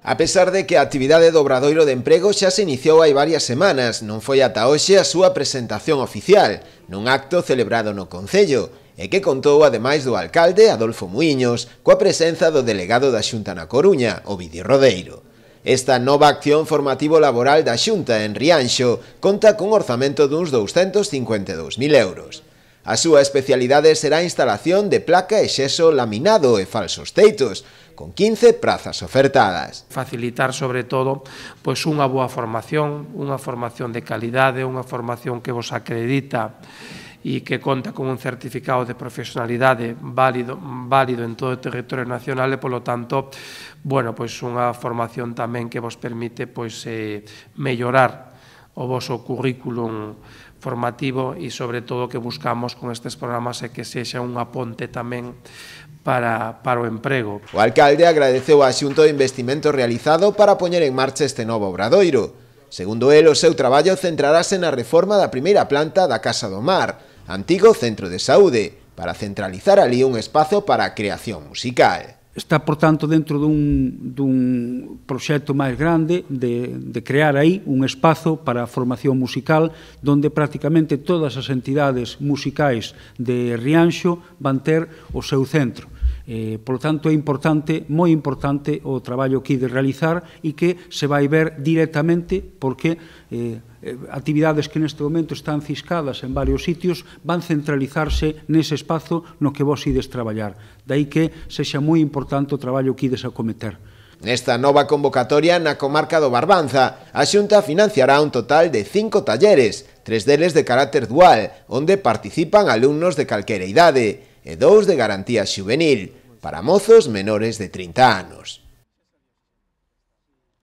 A pesar de que a actividade do Obradoiro de Emprego xa se iniciou hai varias semanas, non foi ata hoxe a súa presentación oficial, nun acto celebrado no Concello, e que contou ademais do alcalde Adolfo Muiños, coa presenza do delegado da Xunta na Coruña, Ovidio Rodeiro. Esta nova acción formativo-laboral da Xunta en Rianxo conta cun orzamento duns 252.000 euros. A súa especialidade será a instalación de placa e xeso laminado e falsos teitos, con 15 prazas ofertadas. Facilitar, sobre todo, pois unha boa formación de calidade, unha formación que vos acredita e que conta con un certificado de profesionalidade válido en todo o territorio nacional e, polo tanto, bueno, pois unha formación tamén que vos permite pois mellorar o voso currículum formativo e, sobre todo, que buscamos con estes programas é que sexa unha ponte tamén para o emprego. O alcalde agradeceu á Xunta o investimento realizado para poñer en marcha este novo obradoiro. Segundo el, o seu traballo centrarase na reforma da primeira planta da Casa do Mar, antigo centro de saúde, para centralizar ali un espazo para a creación musical. Está, por tanto, dentro dun proxecto máis grande de crear aí un espazo para a formación musical donde prácticamente todas as entidades musicais de Rianxo van ter o seu centro. Por lo tanto, é importante, moi importante, o traballo que ide realizar e que se vai ver directamente porque actividades que neste momento están ciscadas en varios sitios van centralizarse nese espazo no que vos ides traballar. Daí que sexa moi importante o traballo que ides a cometer. Nesta nova convocatoria na comarca do Barbanza, a Xunta financiará un total de 5 talleres, 3 deles de carácter dual, onde participan alumnos de calquera idade, e 2 de garantía xuvenil, para mozos menores de 30 anos.